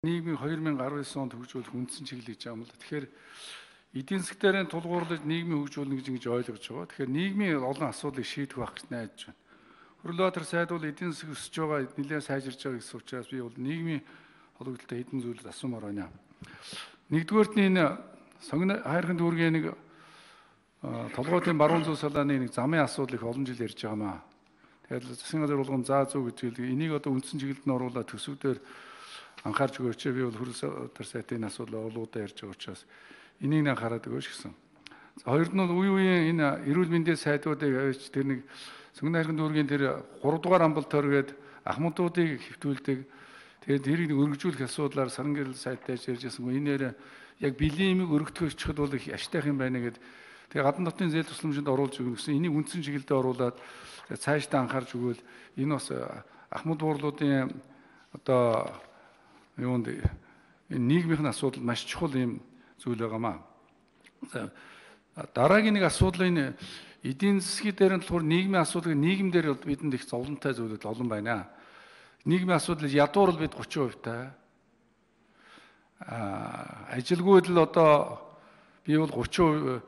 нийгмийн 2019 онд хөгжүүлэх үндсэн чиглэл гэж байгаа юм л. Тэгэхээр эдийн засгийн тулгуурлаж нийгмийн хөгжүүлнэ гэж ингэж ойлгож байгаа. Тэгэхээр нийгмийн олон асуудлыг шийдэх байх гэж найдаж байна. Хөрөлбаатар сайд бол эдийн засаг өсөж байгаа, нэлээд сайжирж байгаа гэсэн учраас би бол нийгмийн холбогдлолтой хэдэн зүйлд асуумаар байна. Нэгдүгээрт нь энэ сонгоны хайрхан дүүргийн нэг толгойн баруун зүүн салааны нэг замын асуудал их олон жил ярьж байгаамаа. Тэгэхээр засгийн газар болгон заа зүү гэж энийг одоо үндсэн чиглэлд нь оруулаад төсвүүдээр анхаарч өгөөч. Би бол хөрөлбаатар сайтын асуудал олоодаа ярьж байгаа учраас энийг анхаарат өгөөч гэсэн. Хоёрд нь бол үе энэ эрүүл мэндийн сайдуудыг авч тэр нэг сонгоны хайрхан дүүргийн тэр 3 дугаар амбалтаар гээд ахмадуудыг хэвтүүлдэг. Тэгээд тэрийг өргөжүүлэх асуудлаар саран гэрэл сайттай ярьж байсангүй. Энэ яг бэлэн имийг өргөдөхөд бол их аштайх юм байна гэд. Тэгээ гадны дотны зээл тусламжинд оруулж өгнө гэсэн. Энийг үндсэн чиглэлдээ оруулаад цаашдаа анхаарч өгвөл энэ бас ахмад буурлуудын одоо юунд энэ нийгмийн асуудал маш чухал юм зүйл байгаамаа. Дараагийн нэг асуудал энэ эдийн засгийн дээр нь болохоор нийгмийн асуудал нийгэмдэр бидэнд их зовлонтой зүйлүүд олон байна. Нийгмийн асуудал ядуур бид 30% та. Ажилгүйд л одоо би бол 30%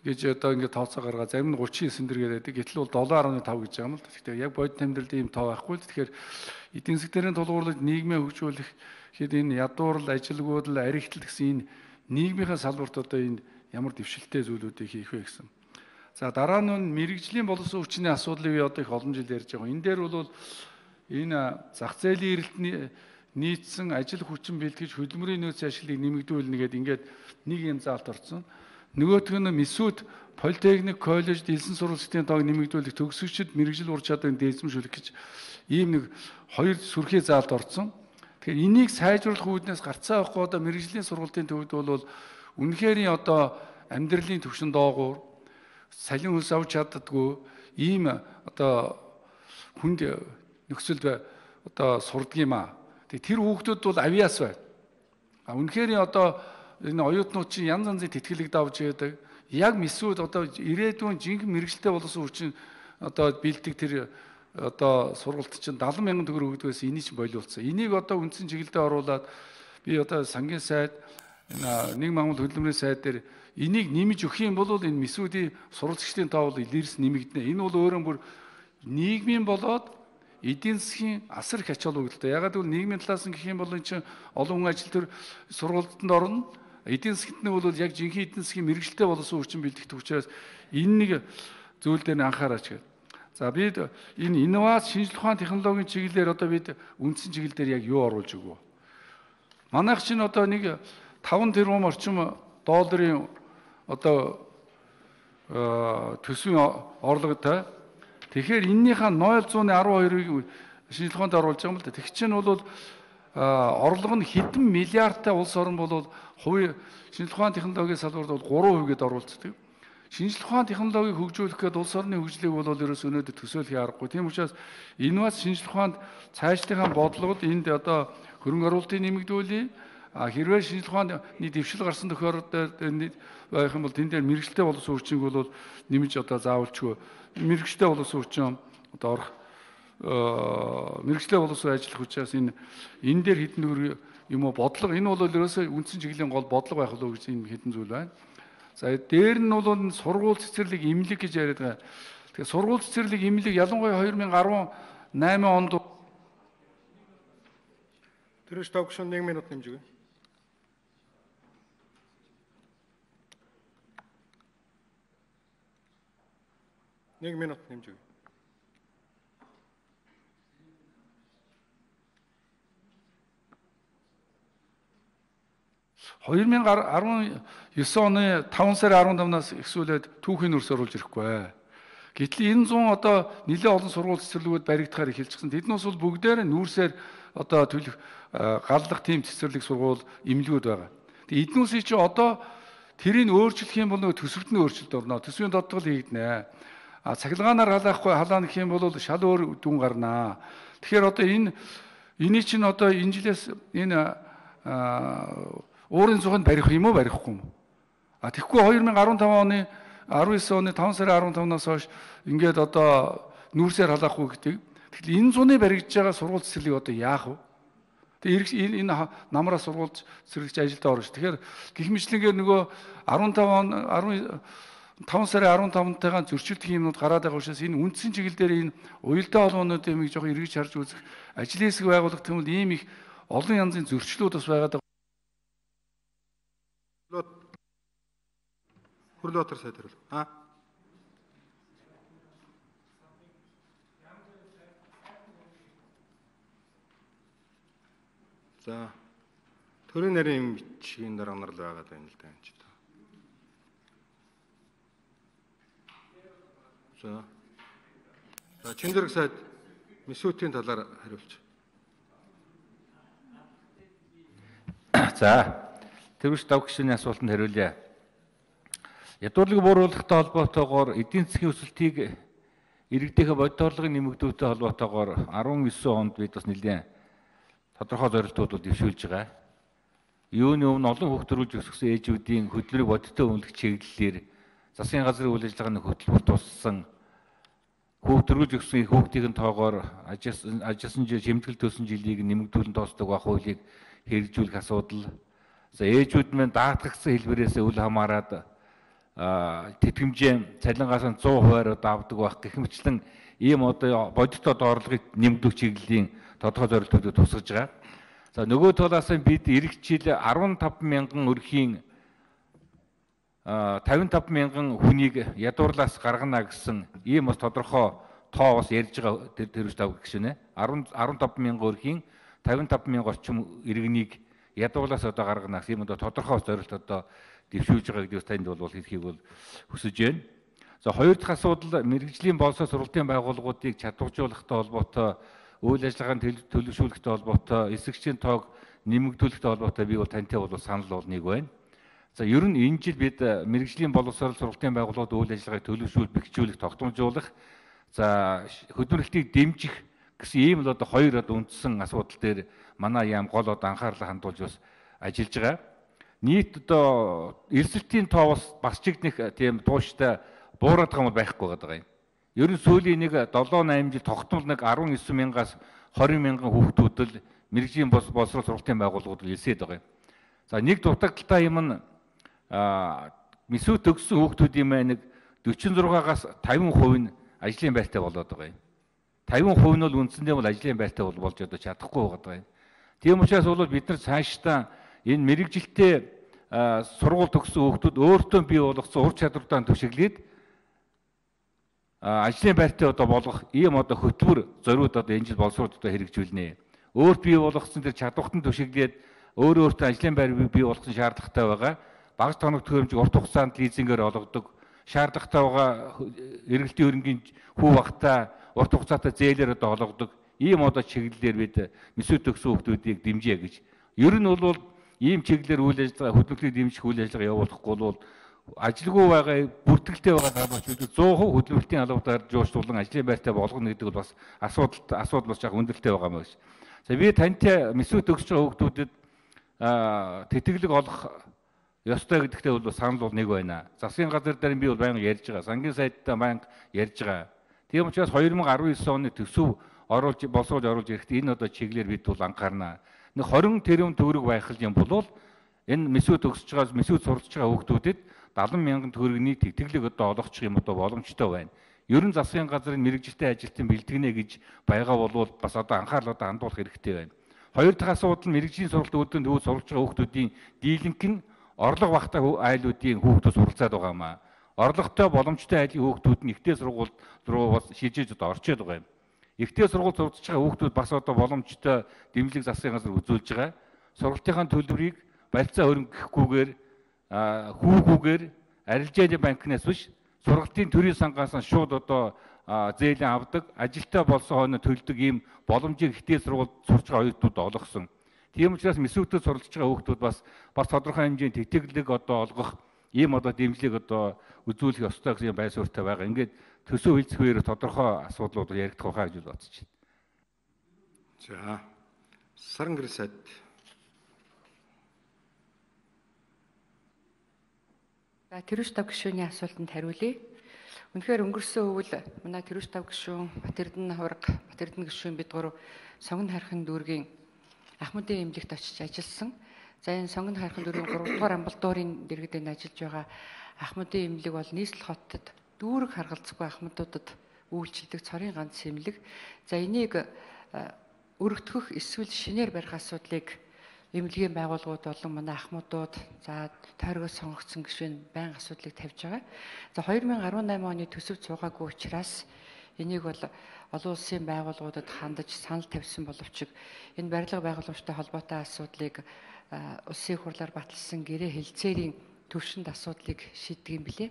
гэж одоо ингээд тооцоо гаргаа зарим нь 39 дэр гэдэг. Гэтэл бол 7.5 гэж байгаа юм л. Тэгэхээр яг бодит амьдралд ийм тоо байхгүй л. Тэгэхээр эдийн засгийн тулгуурлаж нийгмээ хөгжүүлэх хэд энэ ядуурл ажилгүйд л аригтл гэсэн энэ нийгмийн салбарт одоо энэ ямар дэвшилтэй зүйлүүдийг хийх вэ гэсэн. За дараа нь мэрэгжлийн боловсон хүчний асуудлыг би одоо их олон жил ярьж байгаа. Энэ дээр бол энэ зах зээлийн эрэлтний нийцсэн ажил хүчин бэлтгэж хөдөлмөрийн нөөц ашиглыг нэмэгдүүлнэ гэдэг ингээд нэг юм заалт орсон. Нөгөөх нь Месүд политехник коллеж дэлсэн сургалтын тоог нэмэгдүүлэх төгсөгчд мэрэгжил ур чадварыг дээдсэмшүүлэх гэж ийм нэг хоёр сүрхий заалт орсон. Тэгэхээр энийг сайжруулах үүднээс гарцаа авахгүй одоо мэрэгжлийн сургалтын төвд бол үнэхээр одоо амьдралын түвшин доогуур салин хөлс авч чаддаггүй ийм одоо хүнд нөхцөлд одоо сурдаг юм аа. Тэр хүүхдүүд бол авиас байна. Үнэхээр одоо энэ оюутнууд чинь янз янзын тэтгэлэг давж яадаг. Яг Месүд одоо ирээдүйн жинхэнэ мэрэгчлээ болсон хүчин одоо бэлдэг тэр одоо сургалт чинь 70,000 төгрөг өгдөгөөс энийг чинь болиулсан. Энийг одоо үндсэн чиглэлдээ оруулаад би одоо сангийн сайд нэг Монгол хөдөлмөрийн сайд дээр энийг нэмж өгөх юм бол энэ Месүдийн сурвалжчдын тоо бол илэрс нэмэгдэнэ. Энэ бол өөрөө бүр нийгмийн болоод эдийн засгийн асар их ач холбогдолтой. Ягаад гэвэл нийгмийн талаас нь гэх юм бол энэ чинь олон хүн ажил төр сургалтанд орно. Эдийн засгт нь бол яг жинхэнэ эдийн засгийн мэрэгчлээ болсон хүчин бэлтгэх учраас энэ нэг зүйл дээр нь анхаараач гэдэг. За бид энэ инновац шинжилгээ ухаан технологийн чиглэлээр одоо бид үндсэн чиглэлээр яг юу оруулж өгөө. Манайх чинь одоо нэг 5 тэрбум орчим долларын одоо төсвийн орлоготой. Тэгэхээр эннийхээ 0.12-ыг шинжилгээ ухаанд оруулж байгаа юм л да. Тэг чинь бол орлого нь хэдэн миллиардтай улс орн бол хувийн шинжилгээ ухааны технологийн салбарт бол 3% гээд оруулцдаг. Шинжилгээ ухааны технологиг хөгжүүлэх гээд улс орны хөгжлийг бол ерөөс өнөөдөр төсөөлөх аргагүй. Тийм учраас инновац шинжилгээ ухаанд цаашлахын бодлогод энд одоо хөрөнгө оруулалтыг нэмэгдүүлээ. Хэрвээ шинжилгээ ухааны дэвшил гарсан тохиолдолд байх юм бол тэн дээр мэрэгчлээ болсон хүчийг бол нэмж одоо заавалчгүй мэрэгчлээ болсон хүчин одоо орох мэрэгчлээ боловсон ажиллах учраас энэ дээр хэдэн төгрөг юм уу бодлого энэ бол ерөөсөө үндсэн чиглэлийн гол бодлого байх болов гэж энэ хэдэн зүйл байна. За дээр нь бол сургууль цэцэрлэг имлэг гэж яриад байгаа. Тэгэхээр сургууль цэцэрлэг имлэг ялангуяа 2018 онд Тэрэж тогшон 1 минут нэмж өгье. Нэг минут нэмж өгье. $2019 оны 5 сарын 15-наас эхсүүлээд түүхийн өрс оруулж ирэхгүй. Гэтэл энэ 100 одоо нэлээд олон сургууль цэцэрлэгүүд баригдахаар эхэлчихсэн. Тэднээс бол бүгдээр нүүрсээр одоо төлөх галлах тийм цэцэрлэг сургууль имлгүүд байгаа. Тэгээ эднүүсийг чи одоо тэрийг өөрчлөх юм бол нөгөө төсөвт нь өөрчлөлт орно. Төсвийн додтгол хийгднэ. Цахилгаанаар халаахгүй халаана гэх юм бол шал өөр дүн гарнаа. Тэгэхээр одоо энийг чинь одоо энэ жилээс энэ уурын цуханд барих юм уу барихгүй юм. Тэгэхгүй 2015 оны 19 оны 5 сарын 15-наас хойш ингээд одоо нүүрсээр халаахгүй гэдэг. Тэгэхээр энэ зуны баригдж байгаа сургууль цэцэрлэг одоо яах вэ? Тэгээ энэ намраа сургуулж сэргийгч ажилдаа орно ш. Тэгэхээр гэх мэтлэнгээр нөгөө 5 сарын 15-ntайгаа зөрчилдөх юмнууд гараад байгаа учраас энэ үндсэн чиглэл дээр энэ уялдаа холбоонуудын юмыг жоохон эргэж харж үзэх, ажлын хэсэг байгуулах гэвэл ийм их олон янзын зөрчлүүд бас байгаад байгаа. Хурлаатар сайд хариулна. За төрийн нарийн бичгийн дарга нар л байгаад байна л да энэ ч. За Чинзэрэг сайд Месүтийн талаар хариулж. За тэрвш давх гишүүний асуултанд хариулъя. Ядуурлыг бууруулахтай холбоотойгоор эдийн засгийн өсөлтийг иргэдийнхээ бодит орлогын нэмэгдүүлэлттэй холбоотойгоор 19 онд бид бас нэлээд тодорхой зорилтууд дэвшүүлж байгаа. Юуны өмнө олон хүүхд төрүүлж өсгсөн ээжүүдийн хөдөлмөрийг бодиттой үнэлэх чиглэлээр засгийн газрын үйл ажиллагааны хөтөлбөр туссан хүүхд төрүүлж өссөн хүүхдийн тоогоор ажилласан жил шимтгэл төлсөн жилийг нэмэгдүүлэн тоосдог байх хуулийг хэрэгжүүлэх асуудал. За ээжүүд мань даатгагдсан хэлбэрээс үл хамааран тэтгэмжээ цалингаас 100% авдаг байх гэх мэтлэн ийм одоо бодит орлогыг нэмэгдүүлэх чиглэлийн тодорхой зорилтуудыг тусгаж байгаа. За нөгөө талаас нь бид эх жил 15 мянган өрхийн 55 мянган хүнийг ядуурлаас гаргана гэсэн ийм бас тодорхой тоо бас ярьж байгаа тэрвч тав гişүнэ. 15 мянган өрхийн 55 мянга орчим иргэнийг ядуурлаас одоо гаргана гэсэн ийм одоо тодорхой зорилт одоо дэвшүүлж байгаа гэдгийг танд бол хэлхийг бол хүсэж байна. За хоёр дахь асуудал мэрэгжлийн боловсрол сургалтын байгууллагуудыг чадваржуулахтай холбоотой үйл ажиллагааны төлөвшүүлэхтэй холбоотой эсэгчийн тоог нэмэгдүүлэхтэй холбоотой би бол тантай бол санал бол нэг байна. За ер нь энэ жил бид мэрэгжлийн боловсрол сургалтын байгууллагууд үйл ажиллагааг төлөвшүүл бэхжүүлэх тогтмолжуулах за хөдөлмөрлөлтийг дэмжих гэсэн ийм л одоо хоёр одоо үндсэн асуудал дээр манай яам гол одоо анхаарлаа хандуулж бас ажиллаж байгаа. Нийт одоо эрсдэлтийн тоо бас ч нэг тийм тууштай буураад байгаа юм байхгүй байгаа юм. Ер нь сүүлийн нэг 7-8 жил тогтмол нэг 19 мянгаас 20 мянган хүүхдүүд л мэрэгжлийн боловсрол сургалтын байгууллагууд илсээд байгаа юм. За нэг дутагдaltaй юм нь Месүт төгссөн хүүхдүүдийн маань нэг 46-аас 50% нь ажлын байртай болоод байгаа юм. 50% нь бол үндсэндээ бол ажлын байртай болж одоо чадахгүй байгаа юм. Тийм учраас бол бид нар цаашдаа энэ мэрэгжилтэй сургууль төгссөн хүүхдүүд өөртөө бий болгосон ур чадвартай түшиглээд ажлын байртай одоо болгох ийм одоо хөтөлбөр зориуд одоо энэ жил боловсрууд одоо хэрэгжүүлнэ. Өөрт бий болгосон тэр чадвартан түшиглээд өөртөө ажлын байр бий болгох шаардлагатай байгаа. Багц тоног төхөөрөмжийг урт хугацаанд лизингээр олгодог, шаардлагатай байгаа эргэлтийн хөрөнгийн хүү багтаа урт хугацаатай зээлээр одоо олгодог. Ийм одоо чиглэлээр бид Месүт төгссөн хүүхдүүдийг дэмжиж гэж. Ер нь бол ийм чиглэлээр үйл ажиллагаа хөдөлмөрлөлийг дэмжих үйл ажиллагаа явуулахгүй бол ажилгүй байгаа бүртгэлтэй байгаа дараачлууд 100% хөдөлмөрлөлтийн албатаар жуулчлан ажлын байртай болгоно гэдэг бол бас асуудал бас яг өндөртэй байгаа юм байна. За би тантай Месүт төгсөж байгаа хүүхдүүдэд тэтгэлэг олох ёстой гэдэгтээ бол санал бол нэг байна. Засгийн газар дээр би бол байнга ярьж байгаа. Сангийн сайдтай байнга ярьж байгаа. Тийм учраас 2019 оны төсөв боловсруулж оруулж ирэхдээ энэ одоо чиглэлээр бид бол анхаарна. Нэг 20 тэрбум төгрөг байх юм бол энэ Месүт төгсөж байгаа Месүт сурч байгаа хүүхдүүдэд 70 мянган төгрөгийн тэтгэлэг одоо олгочих юм одоо боломжтой байна. Ер нь засгийн газрын мэрэгжилтэй ажилтан бэлтгэнэ гэж байгаа бол бас одоо анхаарал одоо хандуулах хэрэгтэй байна. Хоёр дахь асуудал нь мэрэгжлийн сургалт үүдэн төвөд сурч байгаа хүүхдүүдийн дийлэнх нь орлого багтаа айлуудын хүүхдүүд суралцаад байгаа юм аа. Орлоготой боломжтой айлын хүүхдүүд нь ихтэй сургуульд руу бас шилжиж одоо орчод байгаа юм. Ихтэй сургууль сурч байгаа хүүхдүүд бас одоо боломжтой дэмжлэг засгийн газар үзүүлж байгаа. Сургалтынхаа төлбөрийг барилцаа хөрөнгөхгүйгээр хүүгүүгээр арилжааны банкнаас биш сургалтын төрийн сангаас шууд одоо зээлийн авдаг, ажилтаа болсон хойно төлдөг ийм боломжийг ихтэй сургууль сурч байгаа оюутнууд олгосон. Тийм учраас Месүтэд суралцж байгаа хүүхдүүд бас тодорхой хэмжээний тэтгэлэг одоо олгох ийм одоо дэмжлэг одоо үзүүлэх ёстой гэсэн байр суурьтай байгаа. Ингээд төсөв хэлцэх үеэр тодорхой асуудлууд яригдах байхаа гэж бодож байна. За Сарангэр сайд. За тэрвч тав гишүүний асуултанд хариулъя. Үнэхээр өнгөрсөн өвөл манай тэрвч тав гишүүн, Батэрдэн хураг, Батэрдэн гишүүн бид гурав сонгон харахын дүүргийн Ахмадын эмнэлэгт очиж ажилласан. За энэ Сонгон хайрхан дүүргийн 3 дугаар амбулаторийн дэргэдэнд ажиллаж байгаа Ахмадын эмнэлэг бол нийслэл хотод дүүрэг харгалзахгүй ахмадуудад үйлчилдэг цорын ганц эмнэлэг. За энийг өргөдгөх эсвэл шинээр барих асуудлыг эмнэлгийн байгууллагууд болон манай ахмадууд за тойргоос сонгогдсон гишүүн байнга асуудлыг тавьж байгаа. За 2018 оны төсөв цугаагүй учраас энийг бол олон улсын байгууллагуудад хандаж санал тавьсан боловч энэ барилга байгууламжтай холбоотой асуудлыг улсын хурлаар баталсан гэрээ хэлцээрийн төвшөнд асуудлыг шийддэг юм билээ.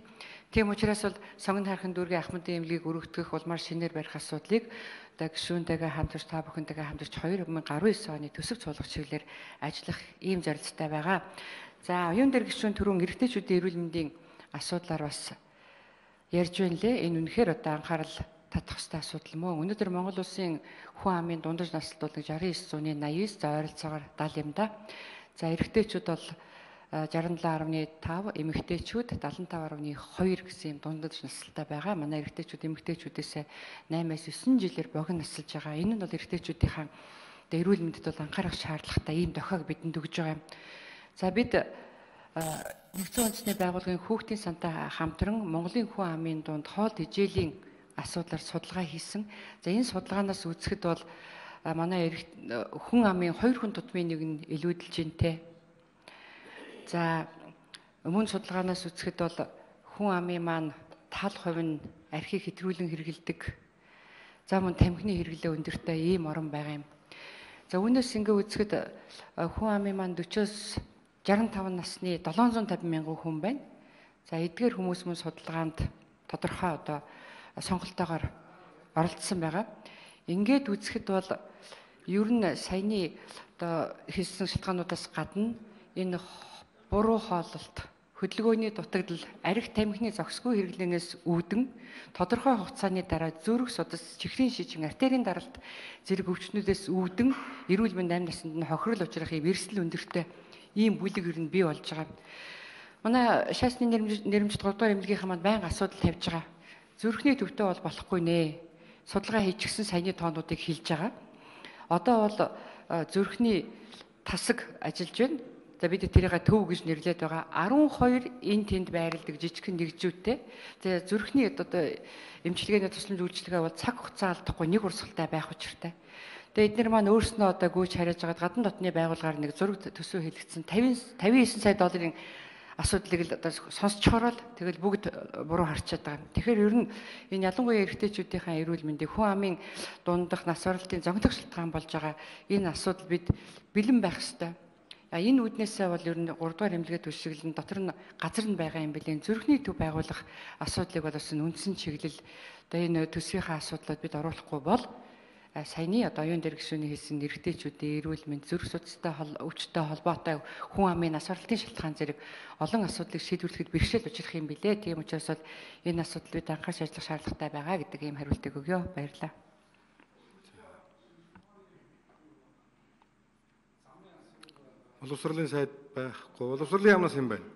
Тийм учраас бол Сонгон хайрхан дүүргийн Ахмадын эмнэлгийг өргөдгөх улмаар шинээр барих асуудлыг гишүүнтэйгээ хамтарч та бүхэнтэйгээ хамтарч 2019 оны төсөв цуглах чиглэлээр ажиллах ийм зорилттой байгаа. За оюун дээр гишүүн түрүүн эрэгтэйчүүдийн эрүүл мэндийн асуудлаар бас ярьж байна лээ. Энэ үнэхээр одоо анхаарал татах ёстой асуудал мөн. Өнөөдөр Монгол улсын хүн амын дундаж насалт бол 69.89 за ойролцоогоор 70 юм да. За эрэгтэйчүүд бол 67.5, эмэгтэйчүүд 75.2 гэсэн юм дундаж насалтай байгаа. Манай эрэгтэйчүүд эмэгтэйчүүдээс 8-9 жилээр богино насалж байгаа. Энэ нь бол эрэгтэйчүүдийн эрүүл мэндэд бол анхаарах шаардлагатай ийм дохиог бидэнд өгж байгаа юм. За бид нэгдсэн үндэсний байгууллагын хүүхдийн сантай хамтран Монголын хүн амын дунд хоол тэжээлийн асуудлаар судалгаа хийсэн. За энэ судалгаанаас үзэхэд бол манай хүн амын 2 хүн тутмын нэг нь илүүдэлж гинтэй. За өмнө судалгаанаас үзэхэд бол хүн амын маань тал хувь нь архийг хэтрүүлэн хэрэгэлдэг. За мөн тамхины хэрэглээ өндөртэй ийм орон байгаа юм. За үүнээс ингээ үзэхэд хүн амын маань 40-с 65 насны 750 мянган хүн байна. За эдгээр хүмүүс мөн судалгаанд тодорхой одоо сонголтоогоор оролцсон байгаа. Ингээд үзэхэд бол ер нь саяны одоо хэлсэн шалтгаануудаас гадна энэ буруу хооллолт, хөдөлгөөний дутагдал, архи тамхины зохисгүй хэрэглэнээс үүдэн тодорхой хугацааны дараа зүрх судас, чихрийн шижин, артерийн даралт зэрэг өвчнүүдээс үүдэн эрүүл мэнд амь насанд нь хохирол учрах ийм эрсдэл өндөртэй ийм бүлэг ер нь бий болж байгаа. Манай шаасны нэрмжит 3 дугаар эмнэлгийнхаа маань байнга асуудал тавьж байгаа. Зүрхний төвтэй бол болохгүй нэ. Судалгаа хийчихсэн саяны тоонуудыг хэлж байгаа. Одоо бол зүрхний тасаг ажиллаж байна. За бид тэрийг төв гэж нэрлээд байгаа. 12 энэ тэнд байрладаг жижигхэн нэгжүүтэй. Тэгээ зүрхний одоо эмчилгээний тусламж үйлчилгээ бол цаг хугацаа алдахгүй нэг урсгалтай байх учиртай. Тэгээ эдгээр маань өөрснөө одоо гүйж хариаж байгаа гадны дотны байгууллагаар нэг зураг төсөв хэлэгдсэн 59 сая долларын асуудлыг л одоо сонсчхороо л тэгэл бүгд буруу харчаад байгаа. Тэгэхээр ер нь энэ ялангуяа эрэгтэйчүүдийн эрүүл мэндийн хүн амын дундах нас баралтын зогдох шалтгаан болж байгаа энэ асуудал бид бэлэн байх ёстой. Энэ үүднээсээ бол ер нь 3 дугаар эмнэлгээ түлшиглэн дотор нь газар нь байгаа юм билээ. Зүрхний төв байгуулах асуудлыг бол бас үндсэн чиглэл одоо энэ төсвийнхаа асуудлууд бид оруулахгүй бол саяны одоо оюун дээр гишүүний хэлсэн эрэгтэйчүүдийн эрүүл мэнд зүрх судастай өвчтэй холбоотой хүн амын нас баралтын шалтгаан зэрэг олон асуудлыг шийдвэрлэхэд бэрхшээл учрах юм билээ. Тийм учраас бол энэ асуудал бид анхаарч ажиллах шаардлагатай байгаа гэдэг ийм хариултыг өгье. Баярлалаа. Боловсролын сайд байхгүй. Боловсролын яамнаас юм байна.